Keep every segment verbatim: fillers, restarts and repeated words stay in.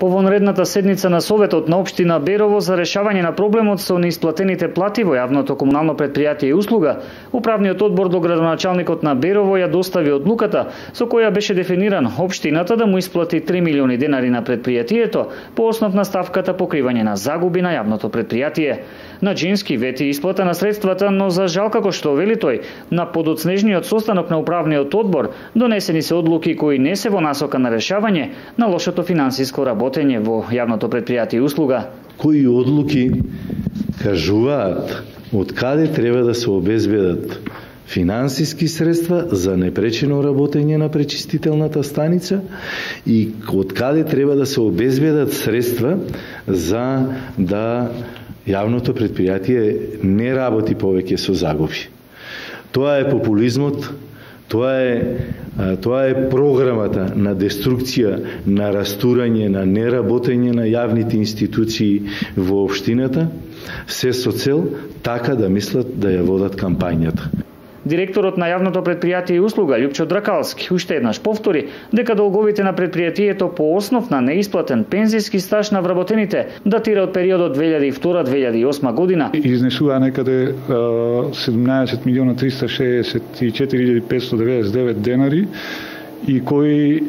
По вонредната седница на Советот на општина Берово за решавање на проблемот со неисплатените плати во јавното комунално претпријатие и услуга, управниот одбор до градоначалникот на Берово ја достави одлуката со која беше дефиниран општината да му исплати три милиони денари на претпријатието по основ на ставката покривање на загуби на јавното претпријатие. Наџински вети исплата на средствата, но за жал, како што вели тој, на подоцнежниот состанок на управниот одбор донесени се одлуки кои не се во насока на решавање на лошото финансиско работење во јавното претпријатие и услуга. Кои одлуки кажуваат од каде треба да се обезбедат финансиски средства за непречено работење на пречистителната станица и од каде треба да се обезбедат средства за да јавното претпријатие не работи повеќе со загуби. Тоа е популизмот, тоа е тоа е програмата на деструкција, на растурање, на неработење на јавните институции во општината, се со цел така да мислат да ја водат кампањата. Директорот на јавното претпријатие и услуга Љупчо Дракалски уште еднаш повтори дека долговите на претпријатието по основ на неисплатен пензиски стаж на вработените датира од периодот две илјади и втора до две илјади и осма година. Изнесува некаде седумнаесет милиона триста шеесет и четири илјади петстотини деведесет и девет денари и кои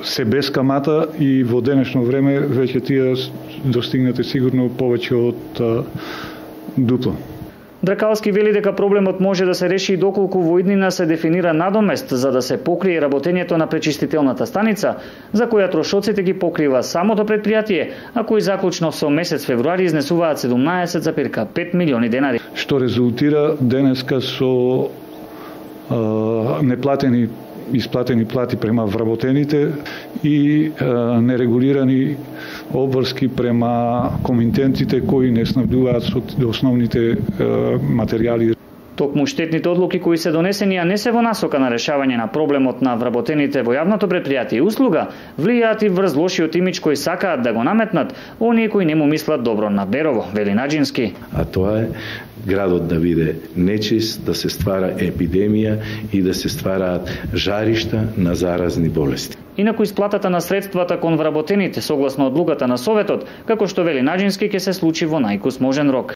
се без камата и во денешно време веќе тие достигнате сигурно повеќе од дупло. Дракалски вели дека проблемот може да се реши и доколку во иднина се дефинира надомест за да се покрие работењето на пречистителната станица, за која трошоците ги покрива самото претпријатие, а кои заклучно со месец февруари изнесуваат седумнаесет зарез пет милиони денари. Што резултира денеска со а, неплатени исплатени плати према вработените и е, нерегулирани обврски према комитентите кои не снабдуваат со основните е, материјали. Токму штетните одлуки кои се донесени, а не се во насока на решавање на проблемот на вработените во јавното претпријатие и услуга, влијаат и врз лошиот имидж кој сакаат да го наметнат оние кои не му мислат добро на Берово, вели Наџински. А тоа е градот да биде нечист, да се ствара епидемија и да се ствараат жаришта на заразни болести. Инаку исплатата на средствата кон вработените согласно одлуката на Советот, како што вели Наџински, ќе се случи во најкус можен рок.